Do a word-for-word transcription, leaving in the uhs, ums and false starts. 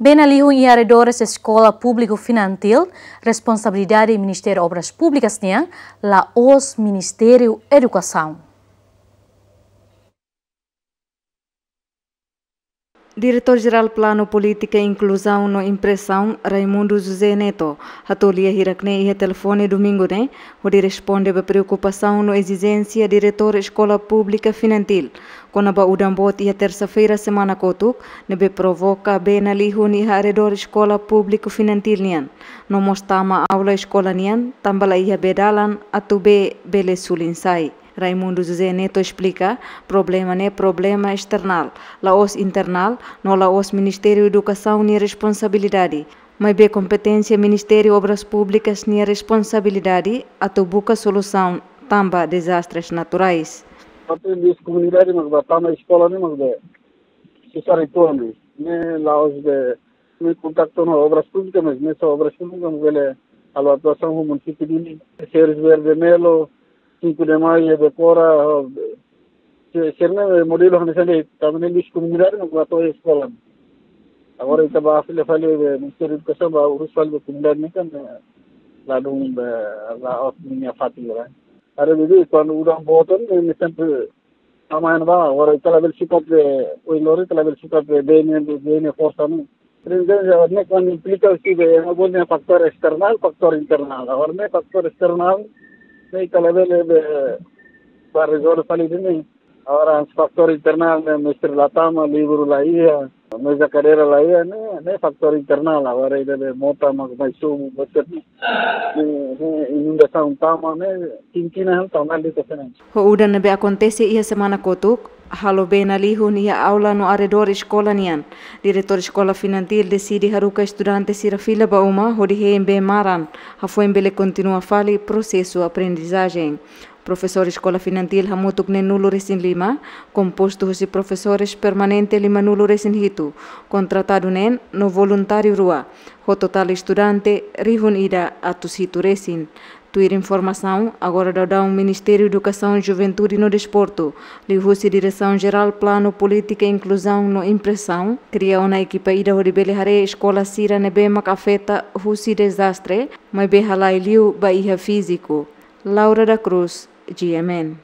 Bee nalihun iha arredores Eskola Públiku Finantil, responsabilidade Ministériu Obras Públikas nian, la'ós Ministériu Edukasaun. Diretór Jerál Planu, Polítika, Inkluzaun no Impresaun, Raimundo José Neto, hato'o lia hirak-ne'e iha telefone domingu ne'e, hodi responde ba preokupasaun no ezijénsia diretór Eskola Públika Finantil kona-ba udan boot iha tersa-feira semana kotuk, ne'ebé provoka bee nalihun iha arredór Eskola Públiku Finantil nian, no mós tama aula eskola nian, tanba la iha bee dalan atu bee bele sulin sai. Raimundo José Neto esplika, problema ne'e problema esternál, la'ós internál, no la'ós Ministériu Edukasaun nia responsabilidade, maibé kompeténsia Ministériu Obras Públikas nia responsabilidade atu buka solusaun tanba dezastres naturais. Parte de komunidade mak ba tama eskola ne'e mak ba susar itu ne'e, ne'e la'ós de, ne'e kontaktu ho Obras Públikas, mas ne'e só Obras Públikas mak bele halo atuasaun ho munisípiu duni. Series verde melo, cinco de maio, dekora, se, se ne'e modelu hanesan ne'e, tanba ne'e la'ós komunidade mak ba to'o eskola. Agora ita ba fila fali be Ministériu Edukasaun ba urus fali be komunidade ne'e kan, eh, ladún be la'ós ninia fatin, né? Haree be kuandu udan boot ne'e, ne'e sempre tama iha ne'ebá, agora ita labele sukat be, ohin loron ita labele sukat be, bee ne'e, bee ne'e forsa ne'e. Ne'e, ne'e, ne'e kuandu implika husi be, ne'e bele fatór esternál, fatór internál. Agora ne'e fatór esternál, ne'e ita labele be, ba rezolve fali ne'e. Agora fatór internál ne'e, mestre la tama, livru la iha, meza kadeira la iha, ne'e, ne'e fatór internál. Agora ida be mota mak mai sobu, bosat ne'e, ne'e, ne'e inundasaun tama, ne'e, kinkin han tama li ka senen. Ho udan ne'ebé akontese iha semana kotuk, halo bee nalihun iha aula no arredór eskola nian, Diretór Eskola Finantil deside haruka estudante sira fila ba uma hodi hein bee maran, hafoin bele kontinua fali prosesu aprendizajen. Profesór Eskola Finantil hamutuk neen-nulu resin lima, kompostu husi profesores permanente lima-nulu resin hitu, kontratadu neen no voluntáriu rua, ho totál estudante rihun ida atus hitu resin. Tuir informasaun, agora daudaun Ministériu Edukasaun, Juventude no Desportu, liuhusi Diresaun Jerál Planu, Polítika, Inkluzaun no Impresaun, kria ona ekipa ida hodi bele haree eskola sira ne'ebé mak afeta husi dezastre, maibé halai liu ba iha fíziku. Laura da Cruz, G M N.